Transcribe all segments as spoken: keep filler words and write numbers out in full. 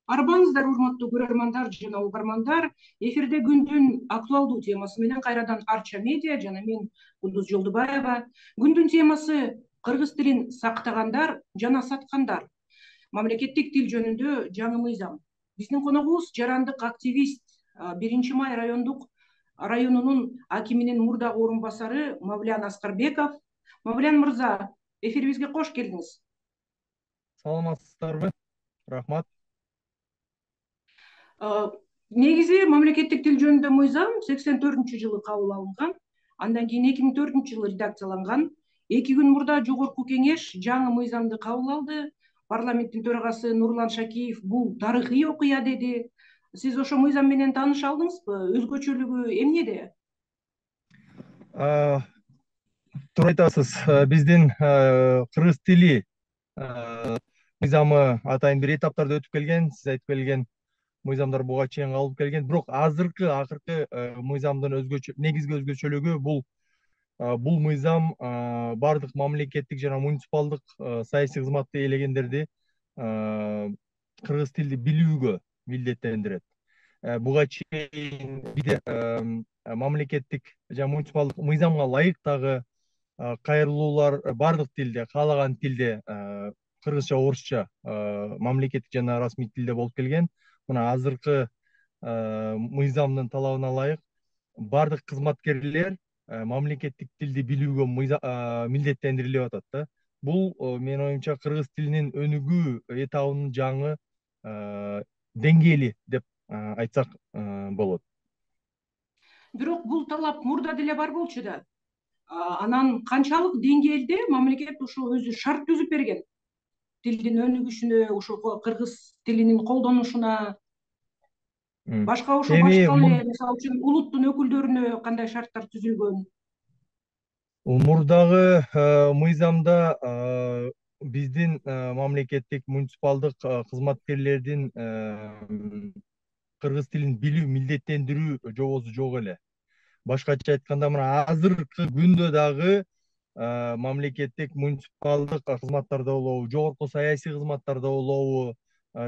Арбаңыздар, урматтуу көрөрмандар жана угармандар. Эфирде күндүн актуалдуу темасы менен кайрадан Арча медиа жана мен Кудуз Жолдубаева. Күндүн темасы кыргыз тилин сактагандар жана саткандар. Мамлекеттик тил жөнүндө жаңы мыйзам. Биздин коногубуз жарандык активист, биринчи май райондук районунун акиминин мурдагы орун басары Мавлян Аскарбеков. Мавлян мырза, эфирибизге кош келдиңиз. Саламатсыздарбы? Рахмат. Негизи мамлекеттик тил жөнүндө мыйзам сексен төртүнчү жылы кабыл алынган. Андан кийин эки миң төртүнчү жылы редакцияланган. Эки күн мурда жогорку кеңеш жаңы мыйзамды кабыл алды. Парламенттин төрагасы Нурлан Шакиев бул тарыхый окуя деди. Сиз ошо мыйзам менен тааныша алдыңызбы? Өзгөчөлүгү эмнеде? Туура айтасыз. Биздин кыргыз тили мыйзамы атайын бир этаптарда өтүп келген. Сиз айтып келген мыйзамдар буга чейин калып келген. Бирок азыркы акыркы мыйзамдын өзгөчө негизги өзгөчөлүгү бул бул мыйзам бардык мамлекеттик жана муниципалдык саясий кызматты ээлегендерди кыргыз тилди билүүгө милдеттендирет. Буга чейин бизде мамлекеттик жана муниципалдык мыйзамга ылайык дагы кайрылуулар бардык тилде, каалаган тилде, кыргызча, орусча мамлекеттик жана расмий тилде болуп келген. Мына азыркы мыйзамдын талабына ылайык бардык кызматкерлер мамлекеттик тилди билүүгө милдеттендирилип атат да. Бул менин оюмча кыргыз тилинин өнүгүү этабынын жаңы деңгээли деп айтсак болот. Бирок бул талап мурда деле бар болчу да. Анан канчалык деңгээлде мамлекет ошо өзү шарт түзүп берген тилдин өнүгүшүнө, ошо кыргыз тилинин колдонушуна, башка ошо башка эле мисалы үчүн улуттун өкүлдөрүнө кандай шарттар түзүлгөн? Мурдагы мыйзамда биздин мамлекеттик муниципалдык кызматкерлердин кыргыз тилин билүү, милдеттендирүү жобосу жок эле. Башкача айтканда, мына азыркы күндө дагы мамлекеттик муниципалдык кызматтарда болобу, жогорку саясий кызматтарда болобу,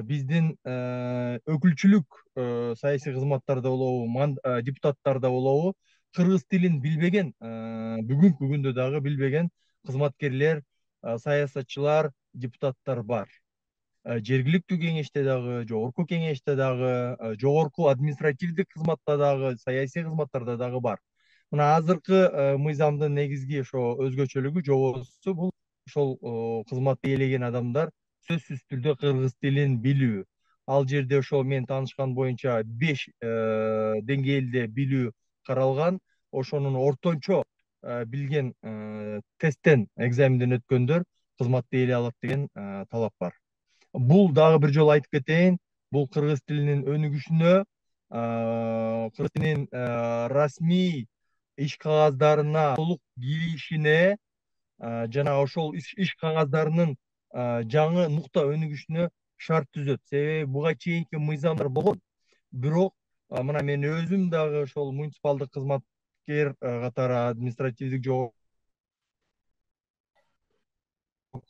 биздин өкүлчүлүк саясий кызматтарда болобу, депутаттарда болобу, кыргыз тилин билбеген, бүгүнкү күндө дагы билбеген кызматкерлер, саясатчылар, депутаттар бар. Жергиликтүү кеңеште дагы, жогорку кеңеште дагы, жогорку административдик кызматта дагы, саясий кызматтарда дагы бар. Мына азыркы мыйзамдын негизги ошо өзгөчөлүгү, жобосу бул ошол кызматты ээлеген адамдар сөзсүз түрдө кыргыз тилин билүү. Ал жерде ошол мен таанышкан боюнча беш деңгээлде билүү каралган. Ошонун ортончо билген тесттен, экзаменден өткөндөр кызматты ээлей алат деген талап бар. Бул дагы бир жолу айтып кетейин, бул кыргыз тилинин өнүгүшүнө, кыргыз тилинин расмий иш кагаздарына толук киришине жана ошол иш кагаздарынын жаңы нукта өнүгүшүнө шарт түзөт. Себеби буга чейинки мыйзамдар болгон. Бирок мына мен өзүм дагы ошол муниципалдык кызматкер катары, административдик жогорку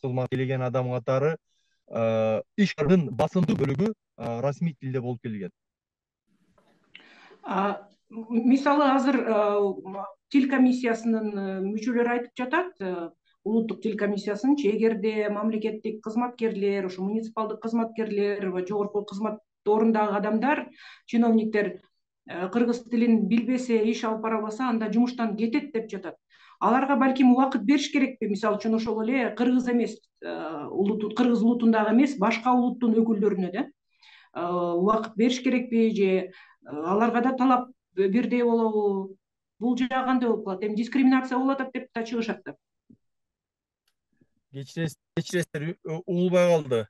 кызмат ээлеген адам катары иштин басымдуу бөлүгү расмий тилде болуп келген. Мисалы азыр тил комиссиясынын мүчөлөрү айтып жатат, улуттук тил комиссиясынчы, эгерде мамлекеттик кызматкерлер, ошо муниципалдык кызматкерлер, жогорку кызмат орундагы адамдар, чиновниктер кыргыз тилин билбесе, иш алып бара албаса, анда жумуштан кетет деп жатат. Аларга балким убакыт бериш керекпи? Мисалы үчүн ошол эле кыргыз эмес, кыргыз улутундагы эмес, башка улуттун өкүлдөрүнө да убакыт бериш керекпи же аларга да талап бирдей болобу? Бул жагы кандай болуп калат? Эми дискриминация болуп атат деп да чыгышат да. Кечиресиздер, угулбай калды.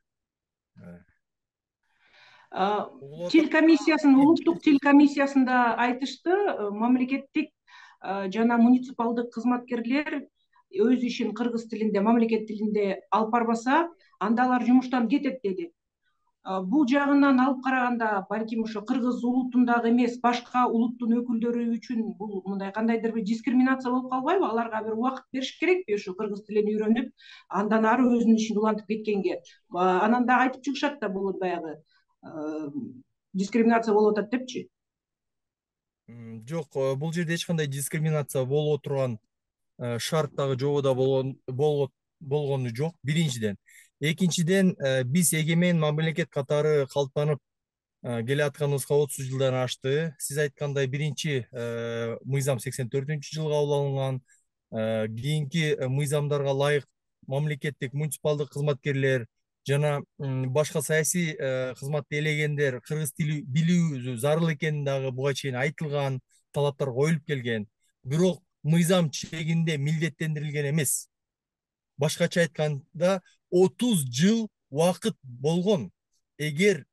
Тил комиссиясынын, улуттук тил комиссиясында айтышты, мамлекеттик жана муниципалдык кызматкерлер өз ишин кыргыз тилинде, мамлекет тилинде алып барбаса, анда алар жумуштан кетет деди. Бул жагынан алып караганда, балким ошо кыргыз улутундагы эмес, башка улуттун өкүлдөрү үчүн бул мындай кандайдыр бир дискриминация болуп калбайбы? Аларга бир убакыт бериш керекпи ошо кыргыз тилин үйрөнүп, андан ары өзүнүн ишин улантып кеткенге? Анан дагы айтып чыгышат да, бул баягы дискриминация болуп атат депчи? Жок, бул жерде эч кандай дискриминация болуп турган шарт дагы жободо болгон болгону жок, биринчиден. Экинчиден, биз эгемен мамлекет катары калыптанып келатканыбызга отуз жылдан ашты. Сиз айткандай биринчи мыйзам сексен төртүнчү жылы кабыл алынган. Кийинки мыйзамдарга ылайык мамлекеттик муниципалдык кызматкерлер жана башка саясий кызматты ээлегендер кыргыз тили билүү зарыл экени дагы буга чейин айтылган, талаптар коюлуп келген. Бирок мыйзам чегинде милдеттендирилген эмес. Башкача айтканда, отуз жыл убакыт болгон. Эгер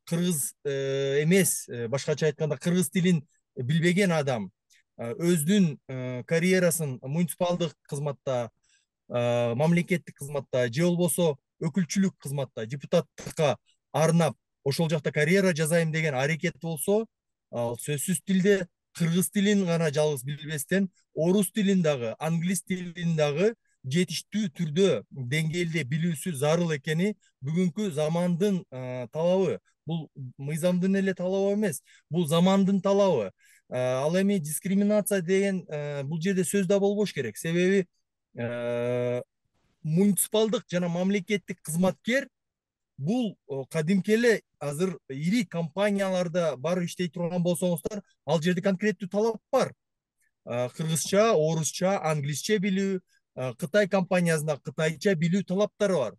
кыргыз эмес, башкача айтканда кыргыз тилин билбеген адам өзүнүн карьерасын муниципалдык кызматта, мамлекеттик кызматта же болбосо өкүлчүлүк кызматта, депутаттыкка арнап ошол жакта карьера жасайм деген аракет болсо, ал сөзсүз тилде кыргыз тилин гана жалгыз билбестен, орус тилин дагы, англис тилин дагы жетиштүү түрдө деңгээлде билүүсү зарыл экени бүгүнкү замандын талабы. Бул мыйзамдын эле талабы эмес, бул замандын талабы. Ал эми дискриминация деген бул жерде сөз да болбош керек. Себеби муниципалдык жана мамлекеттик кызматкер бул кадимки эле азыр ири компанияларда барып иштей турган болсоңуздар, ал жерде конкреттүү талап бар. Кыргызча, орусча, англисче билүү, Кытай компаниясында кытайча билүү талаптары бар.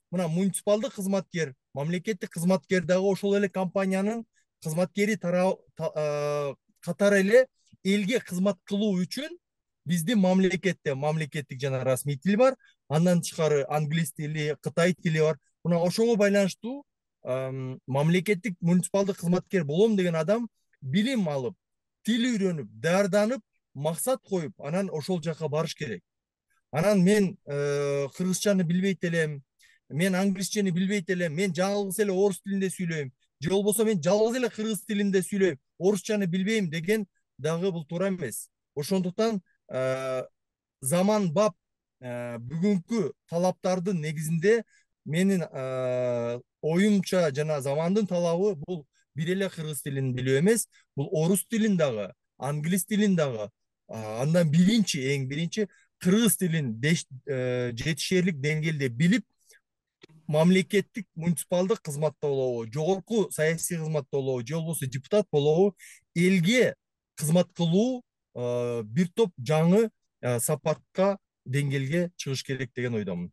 Мына муниципалдык кызматкер, мамлекеттик кызматкер дагы ошол эле компаниянын кызматкери катары эле элге кызмат кылуу үчүн биздин мамлекетте мамлекеттик жана расмий тил бар, андан тышкары англис тили, кытай тили бар. Мына ошого байланыштуу мамлекеттик муниципалдык кызматкер болом деген адам билим алып, тил үйрөнүп, даярданып, максат коюп, анан ошол жака барыш керек. Анан мен кыргызчаны билбейт элем, мен англисчени билбейт элем, мен жалгыз эле орус тилинде сүйлөйм, же болбосо мен жалгыз эле кыргыз тилинде сүйлөйм, орусчаны билбейм деген дагы бул туура эмес. Ошондуктан заман бап бүгүнкү талаптардын негизинде менин оюмча жана замандын талабы бул бир эле кыргыз тилин билүү эмес, бул орус тилин дагы, англис тилин дагы, андан биринчи, эң биринчи кыргыз тилин жетишерлик деңгээлде билип, мамлекеттик муниципалдык кызматта болобу, жогорку саясий кызматта болобу, же болбосо депутат болобу, элге кызмат кылуу бир топ жаңы сапатка, деңгээлге чыгыш керек деген ойдомун.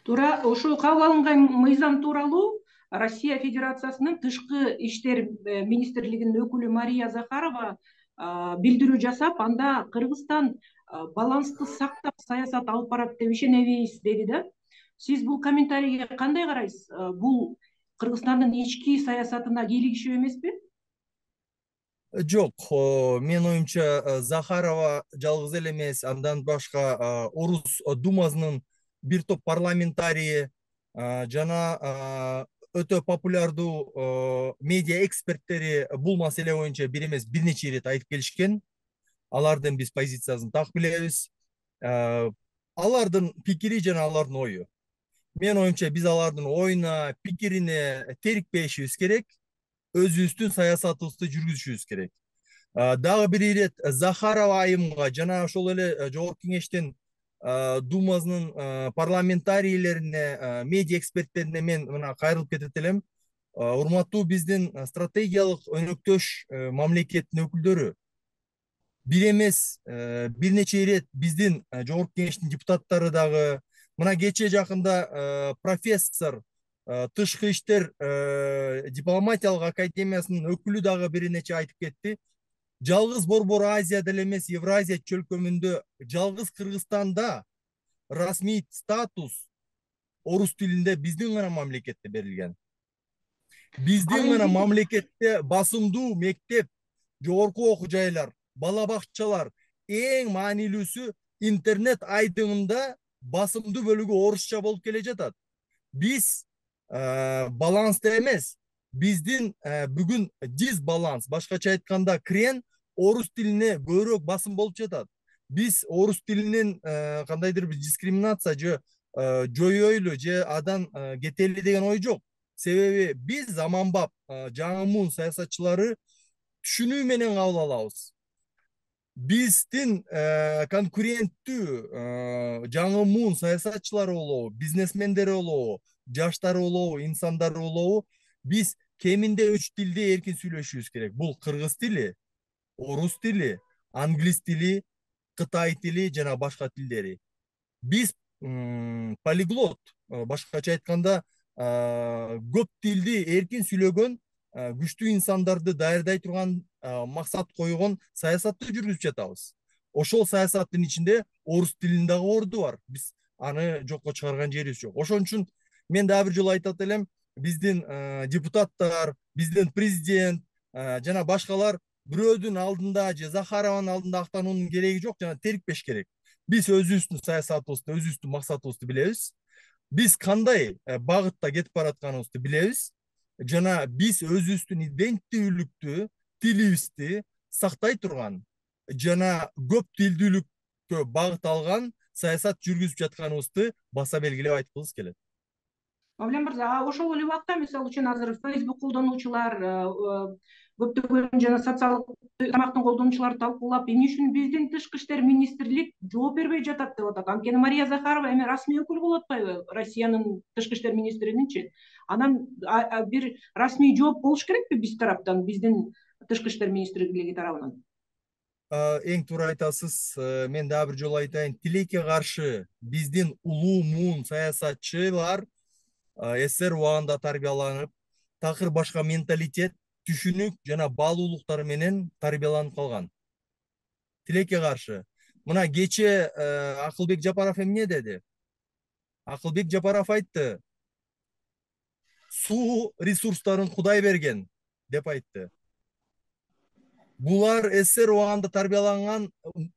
Туура, ошол кабыл алынган мыйзам тууралуу Россия Федерациясынын тышкы иштер министрлигинин өкүлү Мария Захарова билдирүү жасап, анда Кыргызстан балансты сактап саясат алып барат деп ишенебиз деди да. Сиз бул комментарийге кандай карайсыз? Бул Кыргызстандын ички саясатына кийлигишүү эмеспи? Жок, менин оюмча Захарова жалгыз эле эмес, андан башка Орус Думасынын бир топ парламентарийи жана өтө популярдуу медиа эксперттери бул маселе боюнча бир эмес бир нече ирет айтып келишкен. Алардын биз позициясын так билебиз. Алардын пикири жана алардын ою. Менин оюмча биз алардын оюна, пикирине терикпешибиз керек. Өзүбүздүн саясатыбызды жүргүзүшүбүз керек. Дагы бир ирет Захарова айымга жана ошол эле Жогорку Кеңештин Думасынын парламентарийлерине, медиа эксперттерине мен мына кайрылып кетет элем. Урматтуу биздин стратегиялык өнөктөш мамлекеттин өкүлдөрү, бир эмес бир нече ирет биздин Жогорку Кеңештин депутаттары дагы, мына кечээ жакында профессор, тышкы иштер дипломатиялык академиясынын өкүлү дагы бир нече айтып кетти. Жалгыз Борбор Азияда эле эмес, Евразия чөлкөмүндө, жалгыз Кыргызстанда расмий статус орус тилинде биздин гана мамлекетте берилген. Биздин гана мамлекетте басымдуу мектеп, жогорку окуу жайлар, бала бакчалар, эң маанилүүсү интернет айдыңында басымдуу бөлүгү орусча болуп келе жатат. Биз балансты эмес, биздин бүгүн дисбаланс, башкача айтканда крен орус тилине көбүрөөк басым болуп жатат. Биз орус тилинин кандайдыр бир дискриминация же жоюйлу же адан кетели деген ой жок. Себеби биз заманбап жаңы муун саясатчылары түшүнүү менен кабыл алабыз. Биздин конкуренттүү жаңы муун саясатчылары болобу, бизнесмендери болобу, жаштары болобу, инсандары болобу, биз кеминде үч тилде эркин сүйлөшүбүз керек. Бул кыргыз тили, орус тили, англис тили, кытай тили жана башка тилдери. Биз полиглот, башкача айтканда көп тилди эркин сүйлөгөн күчтүү инсандарды даярдай турган максат койгон саясатты жүргүзүп жатабыз. Ошол саясаттын ичинде орус тилинин дагы орду бар. Биз аны жокко чыгарган жерибиз жок. Ошон үчүн мен дагы бир жолу айтат элем, биздин депутаттар, биздин президент жана башкалар бирөөдүн алдында же Захарованын алдында актануунун кереги жок, жана терикпеш керек. Биз өзүбүздүн саясатыбызды, өзүбүздүн максатыбызды билебиз. Биз кандай багытта кетип баратканыбызды билебиз. Жана биз өзүбүздүн иденттүүлүктү, тилибизди сактай турган жана көп тилдүүлүккө багыт алган саясат жүргүзүп жатканыбызды баса белгилеп айткыбыз келет. Мавлен мырза, ошол эле убакта мисалы үчүн азыр Facebook колдонуучулар, көптөгөн жана социалдык тармактын колдонуучулары талкуулап, эмне үчүн биздин тышкы иштер министрлик жооп бербей жатат деп атат. Анткени Мария Захарова эми расмий өкүл болуп атпайбы Россиянын тышкы иштер министрининчи? Анан бир расмий жооп болуш керекпи биз тараптан, биздин тышкы иштер министрлиги тарабынан? Эң туура айтасыз. Мен дагы бир жолу айтайын. Тилекке каршы биздин улуу муун саясатчылар СССР убагында тарбияланып, такыр башка менталитет, түшүнүк жана баалуулуктар менен тарбияланып калган. Тилекке каршы. Мына кече Акылбек Жапаров эмне деди? Акылбек Жапаров айтты: суу ресурстарын Кудай берген деп айтты. Булар СССР убагында тарбияланган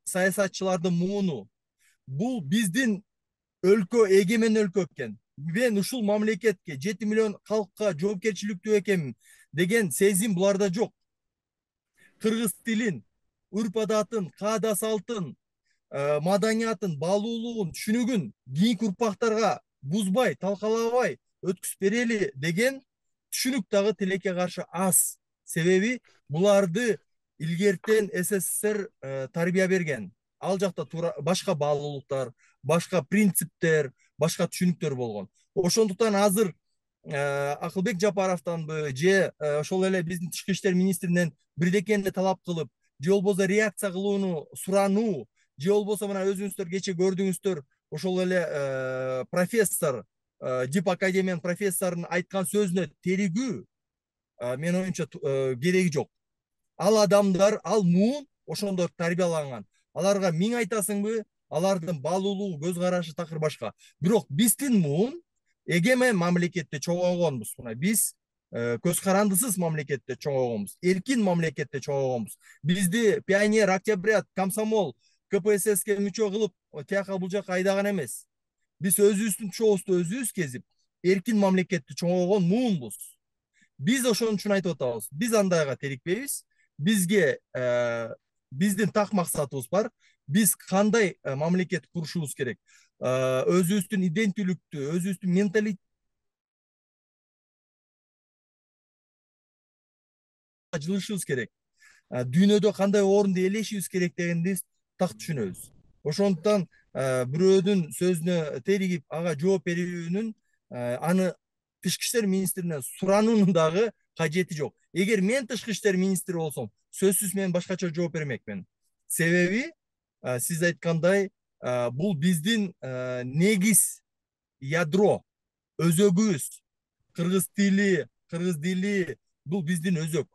саясатчылардын мууну. Бул биздин өлкө эгемен өлкө экен. Мен ушул мамлекетке жети миллион калкка жоопкерчиликтүү экенмин деген сезим буларда жок. Кыргыз тилин, үрп адатын, каада салтын, маданиятын, баалуулугун, түшүнүгүн кийинки урпактарга бузбай, талкалабай өткүзүп берели деген түшүнүк дагы тилекке каршы аз. Себеби буларды илгертен СССР тарбия берген. Ал жакта башка баалуулуктар, башка принциптер, башка түшүнүктөр болгон. Ошондуктан азыр Акылбек Жапаровдонбу же ошол эле биздин тышкы иштер министринен бирдекени талап кылып, же болбосо реакция кылууну сурануу, же болбосо мына өзүңүздөр кече көрдүңүздөр, ошол эле профессор, Дип академиянын профессорунун айткан сөзүнө теригүү менин оюмча кереги жок. Ал адамдар, ал муун ошондор тарбияланган. Аларга миң айтасыңбы, алардын баалуулугу, көз карашы такыр башка. Бирок биздин муун эгемен мамлекетте чоңойгонбуз. Мына биз көз карандысыз мамлекетте чоңойгонбуз, эркин мамлекетте чоңойгонбуз. Бизди пионер, октябрят, комсомол, КПССке мүчө кылып, тияка бул жака айдаган эмес. Биз өзүбүздүн чообузду өзүбүз кезип, эркин мамлекетте чоңойгон муунбуз. Биз ошон үчүн айтып атабыз. Биз андайга терикпейбиз. Бизге биздин так максатыбыз бар. Биз кандай мамлекет курушубуз керек? Өзүбүздүн иденттүүлүктү, өзүбүздүн менталитет жылышыбыз керек. Дүйнөдө кандай орунду ээлешибиз керек дегенди так түшүнөбүз. Ошондуктан бирөөдүн сөзүнө теригип ага жооп берүүнүн, аны тышкы иштер министрине сурануунун дагы кажети жок. Эгер мен тышкы иштер министри болсом, сөзсүз мен башкача жооп бермекмин. Себеби сиз айткандай, бул биздин негиз, ядро, өзөгүбүз. Кыргыз тили, кыргыз дили бул биздин өзөк.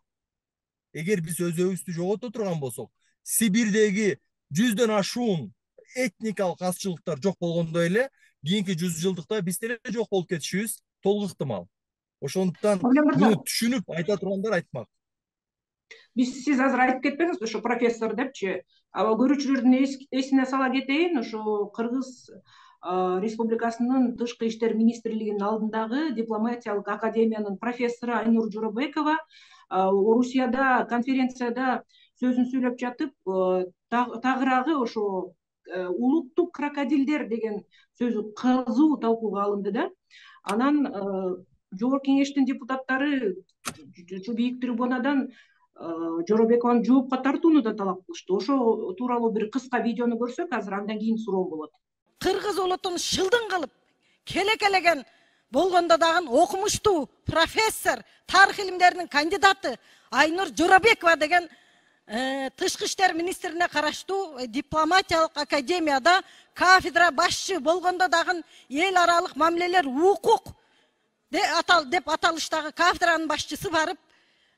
Эгер биз өзөгүбүздү жогото турган болсок, Сибирдеги жүздөн ашуун этникалык азчылыктар жок болгондой эле, кийинки жүз жылдыкта биз деле жок болуп кетишибиз толук ыктымал. Ошондуктан муну түшүнүп айта тургандар айтмак. Биз сиз азыр айтып кетпеңиз, ошо профессор депчи. Аба көрүүчүлөрдүн эсине сала кетейин, ошо Кыргыз Республикасынын тышкы иштер министрлигинин алдындагы дипломатиялык академиянын профессору Айнур Журобекова Орусияда конференцияда сөзүн сүйлөп жатып, тагыраагы ошо улуттук крокодилдер деген сөзү кызуу талкууга алынды да. Анан жогорку кеңештин депутаттары ушу бийик трибунадан Жоробекованы жоопко тартууну да талап кылышты. Ошо тууралуу бир кыска видеону көрсөк азыр, андан кийин суроо болот. Кыргыз улутун шылдың кылып келекелеген болгондо дагы окумуштуу профессор, тарых илимдеринин кандидаты Айнур Жоробекова деген тышкы иштер министрине караштуу дипломатиялык академияда кафедра башчы болгондо дагы эл аралык мамилелер, укук деп аталыштагы кафедранын башчысы барып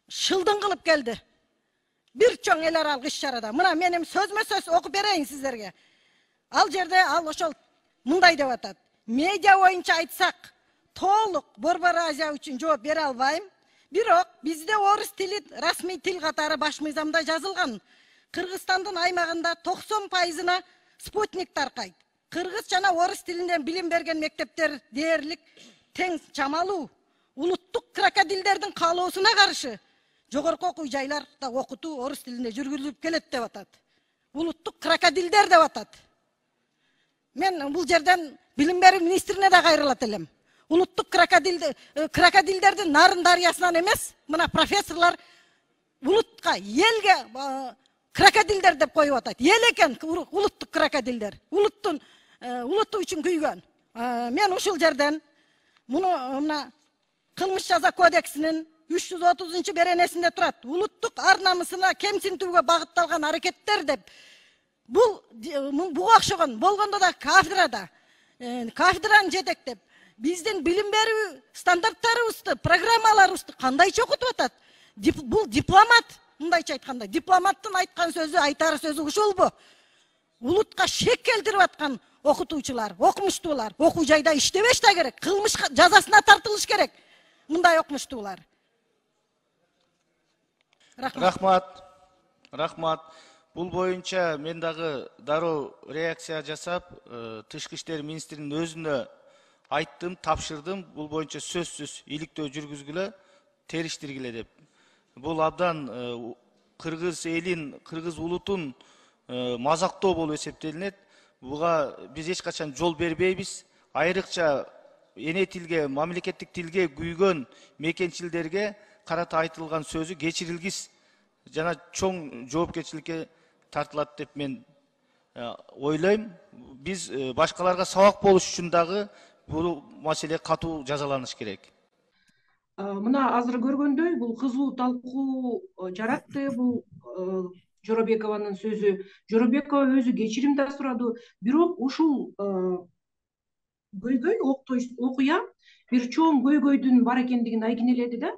шылдың кылып келди. Бир чоң эл аралык иш-чарада. Мына менин сөзмө сөз окуп берейин сиздерге. Ал жерде ал ошол мындай деп атат. Медиа боюнча айтсак, толук Борбор Азия үчүн жооп бере албайм. Бирок бизде орус тили расмий тил катары баш мыйзамда жазылган. Кыргызстандын аймагында токсон пайызына спутник таркайт. Кыргыз жана орус тилинен билим берген мектептер дээрлик тең чамалуу. Улуттук крокодилдердин каалоосуна каршы жогорку окуу жайларда окутуу орус тилинде жүргүзүлүп келет деп атат. Улуттук крокодилдер деп атат. Мен бул жерден билим берүү министрине да кайрылат элем. Улуттук крокодилдердин нарын дарыясынан эмес, мына профессорлор улутка, элге крокодилдер деп коюп атат. Эл экен улуттук крокодилдер. Улуттун улуту үчүн күйгөн. Мен ушул жерден муну мына кылмыш жаза кодексинин үч жүз отузунчу беренесинде турат. Улуттук ар намысына кемсинтүүгө багытталган аракеттер деп. Бул буга окшогон болгондо да кафедрада, кафедраны жетектеп, биздин билим берүү стандарттарыбызды, программаларыбызды кандайча окутуп атат? Бул дипломат, мындайча айтканда, дипломаттын айткан сөзү, айтар сөзү ушулбу? Улутка шек келтирип аткан окутуучулар, окумуштуулар окуу жайда иштебеш да керек, кылмыш жазасына тартылыш керек. Мындай окумуштуулар. Рахмат. Рахмат. Бул боюнча мен дагы дароо реакция жасап, тышкы иштер министринин өзүнө айттым, тапшырдым. Бул боюнча сөзсүз иликтөө жүргүзгүлө, териштиргиле деп. Бул абдан кыргыз элин, кыргыз улутун мазактоо болуп эсептелинет. Буга биз эч качан жол бербейбиз. Айрыкча эне тилге, мамлекеттик тилге күйгөн мекенчилдерге карата айтылган сөзү кечирилгис жана чоң жоопкерчиликке тартылат деп мен ойлойм. Биз башкаларга сабак болуш үчүн дагы бул маселе катуу жазаланыш керек. Мына азыр көргөндөй бул кызуу талкуу жаратты. Бул Жоробекованын сөзү. Жоробекова өзү кечирим да сурады. Бирок ушул көйгөй, окуя бир чоң көйгөйдүн бар экендигин айкинеледи да.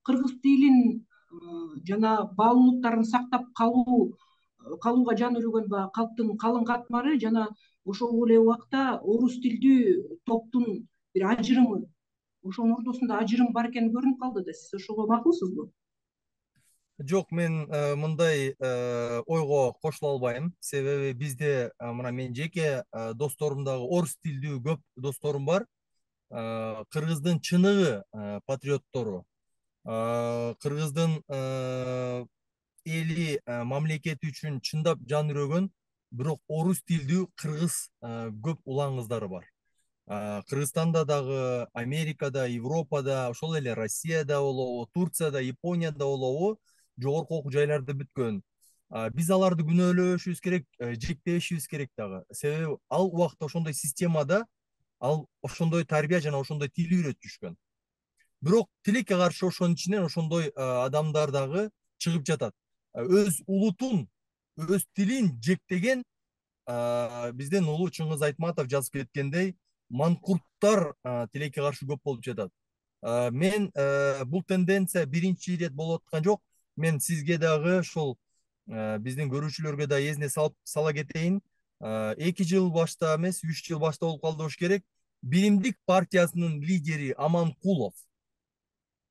Кыргыз тилин жана баалуулуктарын сактап калуу калууга жан үргөн калктын калың катмары жана ошол эле убакта орус тилдүү топтун бир ажырымы, ошонун ортосунда ажырым бар экени көрүнүп калды да. Сиз ошого макулсузбу? Жок, мен мындай ойго кошула албайм. Себеби бизде мына мен жеке досторумдагы орус тилдүү көп досторум бар. Кыргыздын чыныгы патриоттору, кыргыздын эли мамлекети үчүн чындап жан үрөгөн, бирок орус тилдүү кыргыз көп улан кыздары бар. Кыргызстанда дагы, Америкада, Европада, ошол эле Россияда болобу, Турцияда, Японияда болобу жогорку окуу жайларда бүткөн. Биз аларды күнөөлөшүбүз керек, жектебешибиз керек дагы. Себеби ал убакта ошондой системада ал ошондой тарбия жана ошондой тил үйрөтүшкөн. Бирок тилекке каршы ошонун ичинен ошондой адамдар дагы чыгып жатат. Өз улутун, өз тилин жектеген бизден улуу Чыңгыз Айтматов жазып кеткендей манкурттар тилекке каршы көп болуп жатат. Мен бул тенденция биринчи ирет болуп аткан жок. Мен сизге дагы ошол биздин көрүүчүлөргө да эсине сала кетейин. эки жыл башта эмес, үч жыл башта болуп калды болуш керек. Биримдик партиясынын лидери Аманкулов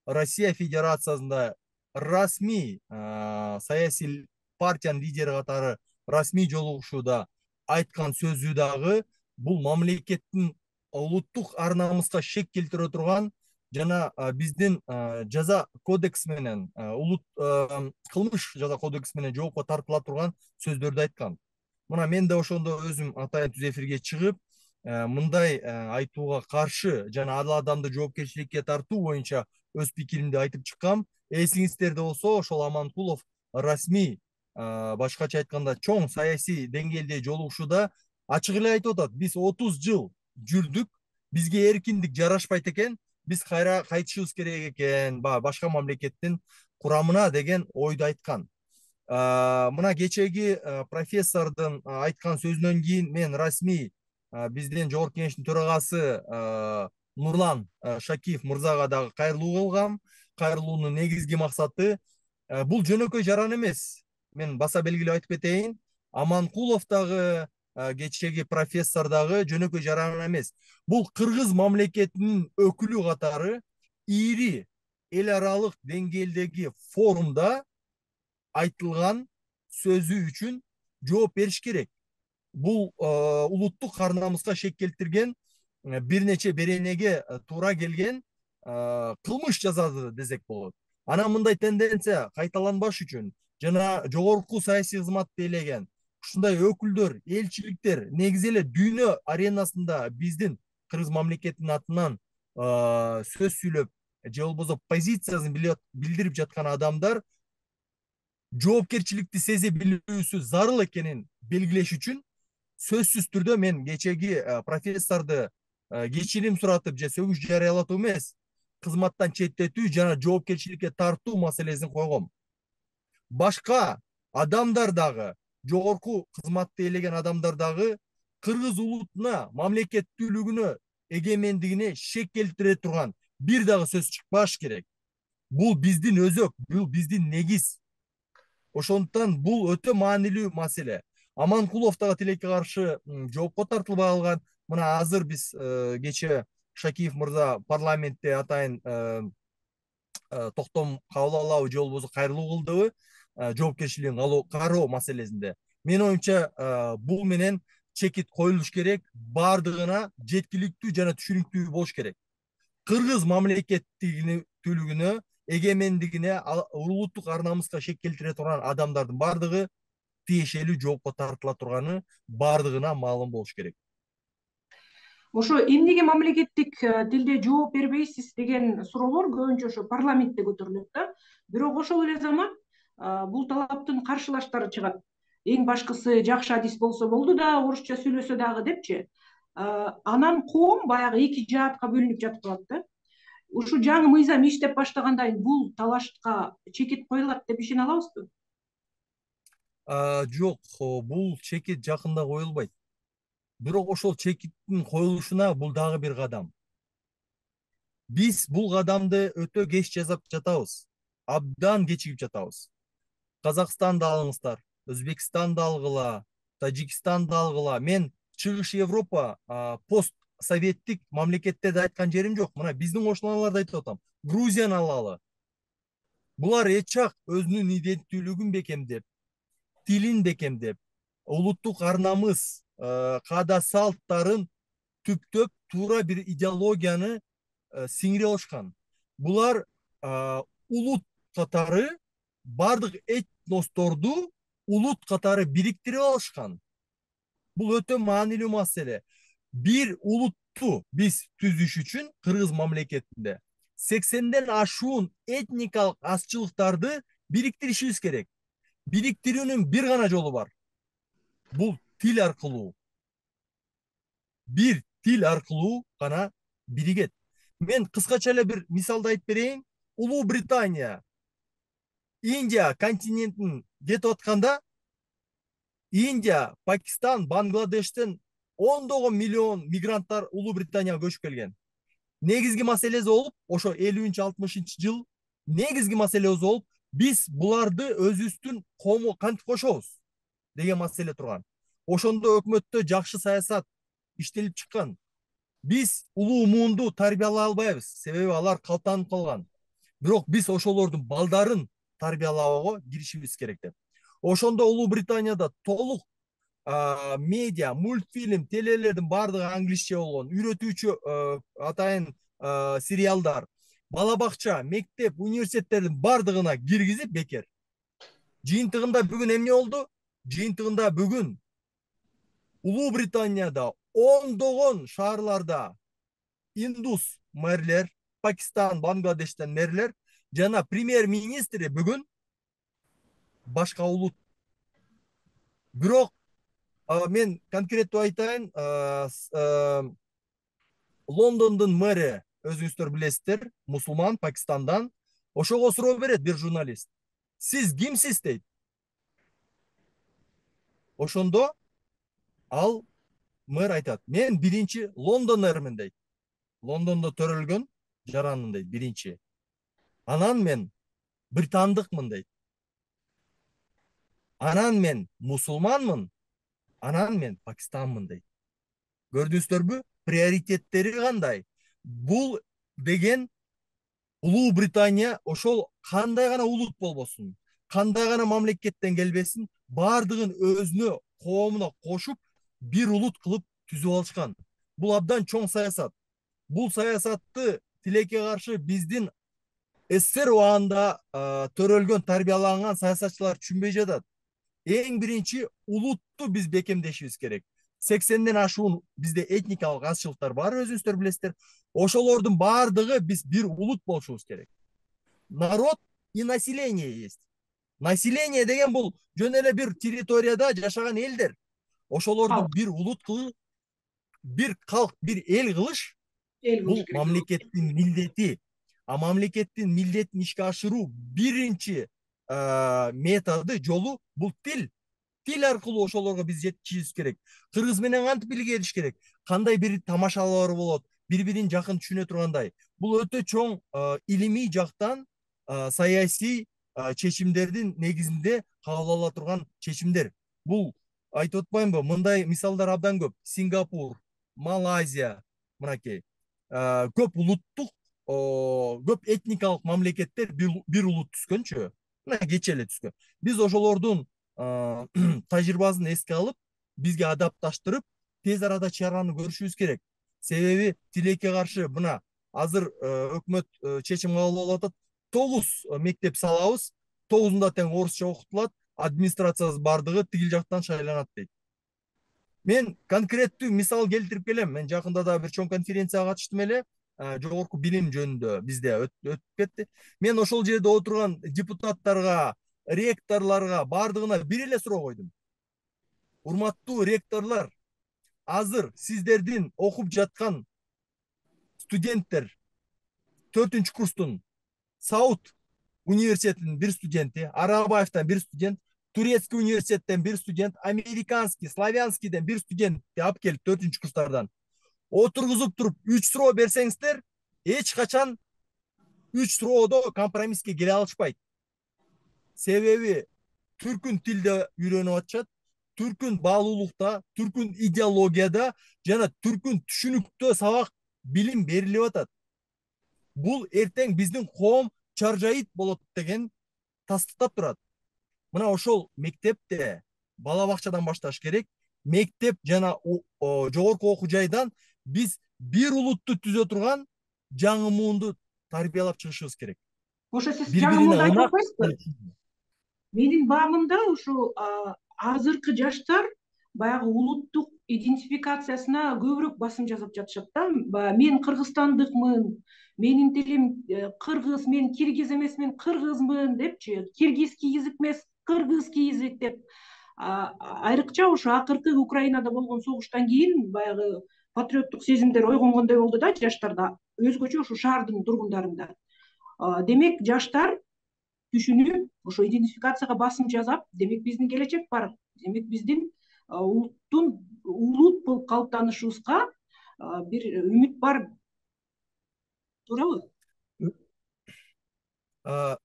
Россия Федерациясында расмий саясий партиянын лидери катары расмий жолугушууда айткан сөзү дагы бул мамлекеттин улуттук ар намыска шек келтире турган жана биздин жаза кодекс менен, улут кылмыш жаза кодекс менен жоопко тартыла турган сөздөрдү айткан. Мына мен да ошондо өзүм атайын түз эфирге чыгып, мындай айтууга каршы жана ал адамды жоопкерчиликке тартуу боюнча өз пикиримди айтып чыккам. Эсиңиздерде болсо, ошол Аманкулов расмий, башкача айтканда чоң саясий деңгээлде жолугушууда ачык эле айтып атат: биз отуз жыл жүрдүк, бизге эркиндик жарашпайт экен, биз кайра кайтышыбыз керек экен башка мамлекеттин курамына деген ойду айткан. Мына кечеги профессордун айткан сөзүнөн кийин мен расмий биздин жогорку кеңештин төрагасы Нурлан Шакиев мырзага дагы кайрылуу кылгам. Кайрылуунун негизги максаты бул жөнөкөй жаран эмес. Мен баса белгилеп айтып кетейин, Аманкулов дагы, кечеги профессор дагы жөнөкөй жаран эмес. Бул кыргыз мамлекетинин өкүлү катары ири эл аралык деңгээлдеги форумда айтылган сөзү үчүн жооп бериш керек. Бул улуттук ар намыска шек келтирген, бир нече беренеге туура келген кылмыш жасады десек болот. Анан мындай тенденция кайталанбаш үчүн жана жогорку саясий кызматты ээлеген ушундай өкүлдөр, элчиликтер, негизи эле дүйнө аренасында биздин кыргыз мамлекетинин атынан сөз сүйлөп же болбосо позициясын билдирип жаткан адамдар жоопкерчиликти сезе билүүсү зарыл экенин белгилеш үчүн сөзсүз түрдө мен кечеги профессорду кечирим суратып же сөгүш жарыялатуу эмес, кызматтан четтетүү жана жоопкерчиликке тартуу маселесин койгом. Башка адамдар дагы, жогорку кызматты ээлеген адамдар дагы кыргыз улутуна, мамлекеттүүлүгүнө, эгемендигине шек келтире турган бир дагы сөз чыкпаш керек. Бул биздин өзөк, бул биздин негиз. Ошондуктан бул өтө маанилүү маселе. Аманкулов дагы тилекке каршы жоопко тартылбай калган. Мына азыр биз кечээ Шакиев мырза парламентте атайын токтом кабыл алабы же болбосо кайрылуу кылдыбы жоопкерчилигин кароо маселесинде. Менин оюмча бул менен чекит коюлуш керек, бардыгына жеткиликтүү жана түшүнүктүү болуш керек. Кыргыз мамлекеттүүлүгүнө, эгемендигине, улуттук ар намыска шек келтире турган адамдардын бардыгы тиешелүү жоопко тартыла турганы бардыгына маалым болуш керек. Ошо эмнеге мамлекеттик тилде жооп бербейсиз деген суроолор көбүнчө ошо парламентте көтөрүлөт да. Бирок ошол эле замат бул талаптын каршылаштары чыгат. Эң башкысы жакшы адис болсо болду да, орусча сүйлөсө дагы депчи. Анан коом баягы эки жаатка бөлүнүп жатып калат да. Ушу жаңы мыйзам иштеп баштагандан кийин бул талашка чекит коюлат деп ишене алабызбы? Жок, бул чекит жакында коюлбайт. Бирок ошол чекиттин коюлушуна бул дагы бир кадам. Биз бул кадамды өтө кеч жасап жатабыз. Абдан кечигип жатабыз. Казакстанды алыңыздар, Өзбекстанды алгыла, Тажикстанды алгыла. Мен Чыгыш Европа пост советтик мамлекеттерди айткан жерим жок. Мына биздин кошуналарды айтып атам. Грузияны алалы. Булар эчак өзүнүн иденттүүлүгүн бекемдеп, тилин бекемдеп, улуттук ар намыс, каада салттарын түптөп туура бир идеологияны сиңире алышкан. Булар улут катары бардык этносторду улут катары бириктирип алышкан. Бул өтө маанилүү маселе. Бир улутту биз түзүш үчүн кыргыз мамлекетинде сексенден ашуун этникалык азчылыктарды бириктиришибиз керек. Бириктирүүнүн бир гана жолу бар. Бул тил аркылуу. Бир тил аркылуу гана биригет. Мен кыскача эле бир мисалды айтып берейин. Улуу Британия Индия континентин кетип атканда Индия, Пакистан, Бангладештен ондогон миллион мигранттар Улуу Британияга көчүп келген. Негизги маселеси болуп, ошо элүүнчү алтымышынчы жыл негизги маселебиз болуп, биз буларды өзүбүздүн коомго кантип кошобуз деген маселе турган. Ошондо өкмөттө жакшы саясат иштелип чыккан. Биз улуу муунду тарбиялай албайбыз, себеби алар калтанып калган. Бирок биз ошолордун балдарын тарбиялоого киришибиз керек деп. Ошондо Улуу Британияда толук медиа, мультфильм, телелердин бардыгы англисче болгон, үйрөтүүчү атайын сериалдар, бала бакча, мектеп, университеттердин бардыгына киргизип бекер. Жыйынтыгында бүгүн эмне болду? Жыйынтыгында бүгүн Улуу Британияда ондогон шаарларда индус мэрлер, Пакистан, Бангладештен мэрлер жана премьер-министри бүгүн башка улут. Бирок мен конкреттүү айтайын, Лондондун мэри, өзүңүздөр билесиздер, мусулман, Пакистандан. Ошого суроо берет бир журналист. Сиз кимсиз дейт. Ошондо ал мэр айтат, мен биринчи Лондон мэрмин дейт. Лондондо төрөлгөн жаранмын дейт, биринчи. Анан мен британдыкмын дейт. Анан мен мусулманмын. Анан мен Пакистанмын дейт. Көрдүңүздөрбү? Приоритеттери кандай? Бул деген Улуу Британия ошол кандай гана улут болбосун, кандай гана мамлекеттен келбесин, бардыгын өзүнө, коомуна кошуп, бир улут кылып түзүп алышкан. Бул абдан чоң саясат. Бул саясатты тилекке каршы биздин СССР убагында төрөлгөн, тарбияланган саясатчылар түшүнбөй жатат. Эң биринчи улутту биз бекемдешибиз керек. сексенден ашуун бизде этникалык азчылыктар бар, өзүңүздөр билесиздер. Ошолордун бардыгы биз бир улут болушубуз керек. Народ и население есть. Население деген бул жөн эле бир территорияда жашаган элдер. Ошолорду бир улут кылып, бир калк, бир эл кылыш бул мамлекеттин милдети. А мамлекеттин милдетин ишке ашыруу биринчи методу, жолу бул тил. Тил аркылуу ошолорго биз жеткиришибиз керек. Кыргыз менен кантип билгериш керек? Кандай бир тамашалар болот? Бири-бирин жакын түшүнө тургандай. Бул өтө чоң илимий жактан саясий чечимдердин негизинде кабыл ала турган чечимдер. Бул айтып атпаймынбы? Мындай мисалдар абдан көп. Сингапур, Малайзия, мынакей. Көп улуттук, көп этникалык мамлекеттер бир улут түзгөнчү. Мына кече эле түзгөн. Биз ошолордун тажрыйбасын эске алып, бизге адапташтырып, тез арада чараны көрүшүбүз керек. Себеби тилекке каршы мына азыр өкмөт чечим кабыл алып атат. тогуз мектеп салабыз, тогузунда тең орусча окутулат, администрациясы бардыгы тигил жактан шайланат дейт. Мен конкреттүү мисал келтирип келем. Мен жакында да бир чоң конференцияга катыштым эле, жогорку билим жөнүндө бизде өтүп кетти. Мен ошол жерде отурган депутаттарга, ректорлорго бардыгына бир эле суроо койдум. Урматтуу ректорлор, азыр сиздердин окуп жаткан студенттер төртүнчү курстун Сауд университетинин бир студенти, Арабаевтан бир студент, Турецкий университеттен бир студент, Американский, Славянскийден бир студентти алып келип төртүнчү курстардан отургузуп туруп үч суроо берсеңиздер, эч качан үч суроодо компромисске келе алышпайт. Себеби түркүн тилде үйрөнүп атышат, түркүн баалуулукта, түркүн идеологияда жана түркүн түшүнүктө сабак билим берилип атат. Бул эртең биздин коом чаржайыт болот деген тастыктап турат. Мына ошол мектепте бала бакчадан башташ керек. Мектеп жана жогорку окуу жайдан биз бир улутту түзө турган жаңы муунду тарбиялап чыгышыбыз керек. Ошо сиз жаңы муунду айтып атпайсызбы? Менин баамымда ушу азыркы жаштар баягы улуттук идентификациясына көбүрөөк басым жасап жатышат да. Мен кыргызстандыкмын, менин тилим кыргыз, мен киргиз эмес, мен кыргызмын депчи, киргизский язык эмес, кыргызский язык деп. Айрыкча ушу акыркы Украинада болгон согуштан кийин баягы патриоттук сезимдер ойгонгондой болду да жаштарда, өзгөчө ушу шаардын тургундарында. Демек жаштар түшүнүп, ошо идентификацияга басым жасап, демек биздин келечек бар. Демек биздин улуттун улут болуп калыптанышыбызга бир үмүт бар. Туурабы?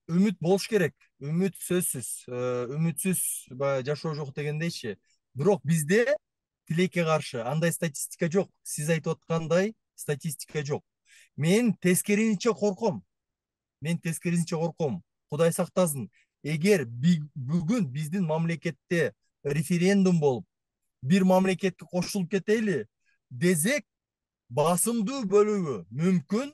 Үмүт болуш керек. Үмүт сөзсүз. Үмүтсүз жашоо жок дегендейчи. Бирок бизде тилекке каршы андай статистика жок. Сиз айтып аткандай статистика жок. Мен тескерисинче корком. Мен тескерисинче корком. Кудай сактасын. Эгер бүгүн биздин мамлекетте референдум болуп, бир мамлекетке кошулуп кетели десек, басымдуу бөлүгү мүмкүн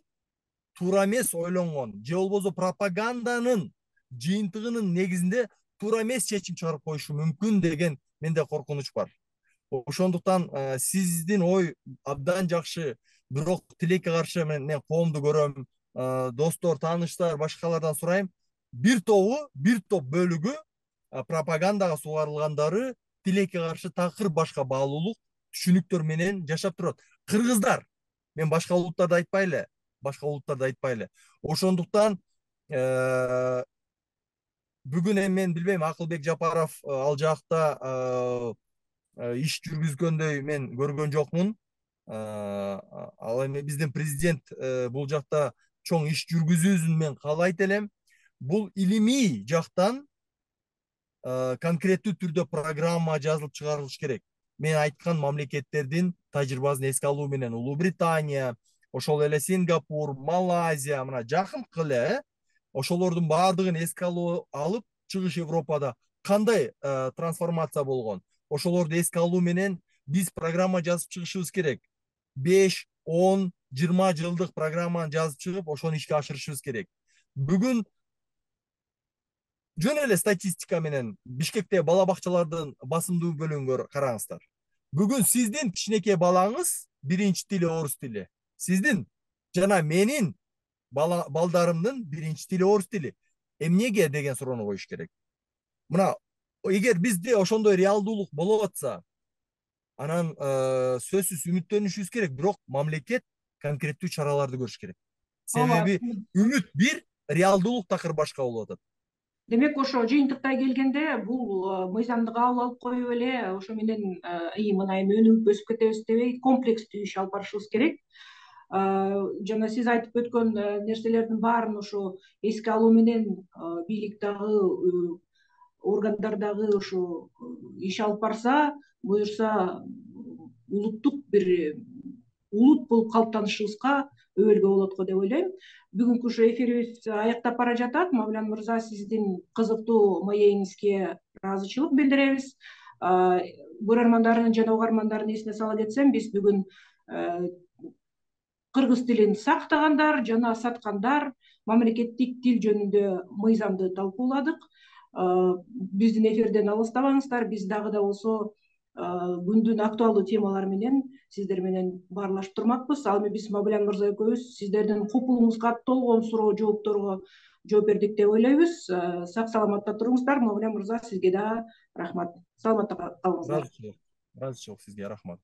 туура эмес ойлонгон, же болбосо пропаганданын жыйынтыгынын негизинде туура эмес чечим чыгарып коюшу мүмкүн деген менде коркунуч бар. Ошондуктан сиздин ой абдан жакшы, бирок тилекке каршы мен коомду көрөм, достор, тааныштар, башкалардан сурайм. Бир тобу, бир топ бөлүгү пропагандага сугарылгандары тилекке каршы такыр башка баалуулук түшүнүктөр менен жашап турат. Кыргыздар, мен башка улуттарды айтпайлы, башка улуттарды айтпайлы. Ошондуктан бүгүн эми мен билбейм, Акылбек Жапаров ал жакта иш жүргүзгөндөй мен көргөн жокмун. Ал эми биздин президент бул жакта чоң иш жүргүзүүсүн мен каалайт элем. Бул илимий жактан конкреттүү түрдө программа жазылып чыгарылыш керек. Мен айткан мамлекеттердин тажрыйбасын эске алуу менен Улуу Британия, ошол эле Сингапур, Малайзия, мына жакынкы эле ошолордун баардыгын эске алып, чыгыш Европада кандай трансформация болгон, ошолорду эске алуу менен биз программа жазып чыгышыбыз керек. беш, он, жыйырма жылдык программаны жазып чыгып, ошону ишке ашырышыбыз керек. Бүгүн жөн эле статистика менен Бишкектеги бала бакчалардын басымдуу бөлүгүн караңыздар. Бүгүн сиздин кичинекей балаңыз биринчи тили орус тили. Сиздин жана менин балдарымдын биринчи тили орус тили. Эмнеге деген суроону коюш керек. Мына, эгер бизде ошондой реалдуулук болуп атса, анан сөзсүз үмүттөнүшүбүз керек, бирок мамлекет конкреттүү чараларды көрүш керек. Себеби үмүт бир, реалдуулук такыр башка болуп атат. Демек, ошо жыйынтыктай келгенде бул мыйзамды кабыл алып коюп эле, ошо менен ии мына эми өнүгүп өсүп кетебиз дебей, комплекстүү иш алып барышыбыз керек. Жана сиз айтып өткөн нерселердин баарын ошо эске алуу менен бийлик дагы, органдар дагы ошо иш алып барса, буюрса улуттук бир улут болуп калыптанышыбызга өбөлгө болот го деп ойлойм. Бүгүнкү ушу эфирибиз аяктап бара жатат. Мавлян мырза, сиздин кызыктуу маегиңизге ыраазычылык билдиребиз. Көрөрмандардын жана угармандардын эсине сала кетсем, биз бүгүн кыргыз тилин сактагандар жана саткандар мамлекеттик тил жөнүндө мыйзамды талкууладык. Биздин эфирден алыстабаңыздар, биз дагы да болсо күндүн актуалдуу темалары менен сиздер менен баарлашып турмакпыз. Ал эми биз Мавлян мырза экөөбүз сиздердин купулуңузга толгон суроо жоопторго жооп бердик деп ойлойбуз. Сак саламатта туруңуздар. Мавлян мырза, сизге да рахмат. Саламатта калыңыздар. Ыраазычылык, ыраазычылык сизге, рахмат.